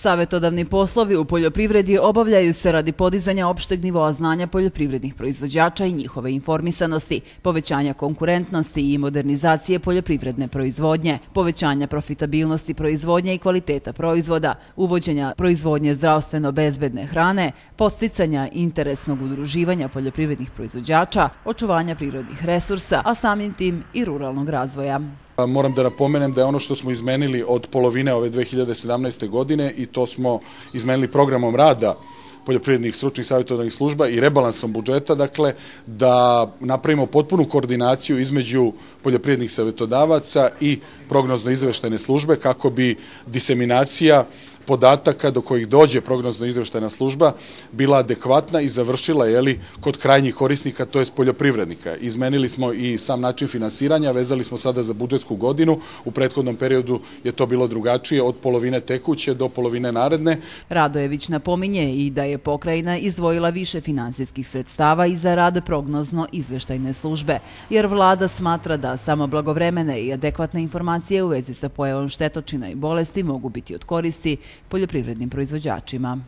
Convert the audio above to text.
Savjetodavni poslovi u poljoprivredi obavljaju se radi podizanja opšteg nivoa znanja poljoprivrednih proizvođača i njihove informisanosti, povećanja konkurentnosti i modernizacije poljoprivredne proizvodnje, povećanja profitabilnosti proizvodnje i kvaliteta proizvoda, uvođenja proizvodnje zdravstveno bezbedne hrane, podsticanja interesnog udruživanja poljoprivrednih proizvođača, očuvanja prirodnih resursa, a samim tim i ruralnog razvoja. Moram da napomenem da je ono što smo izmenili od polovine ove 2017. godine i to smo izmenili programom rada poljoprivrednih stručnih savjetodavnih služba i rebalansom budžeta, dakle, da napravimo potpunu koordinaciju između poljoprivrednih savjetodavaca i prognozno-izveštajne službe kako bi diseminacija podataka do kojih dođe prognozno-izveštajna služba bila adekvatna i završila kod krajnjih korisnika, to jest poljoprivrednika. Izmenili smo i sam način finansiranja, vezali smo sada za budžetsku godinu. U prethodnom periodu je to bilo drugačije, od polovine tekuće do polovine naredne. Radojević napominje i da je pokrajina izdvojila više finansijskih sredstava i za rad prognozno-izveštajne službe, jer vlada smatra da samo blagovremene i adekvatne informacije u vezi sa pojavom štetočina i bolesti mogu biti od koristi poljoprivrednim proizvođačima.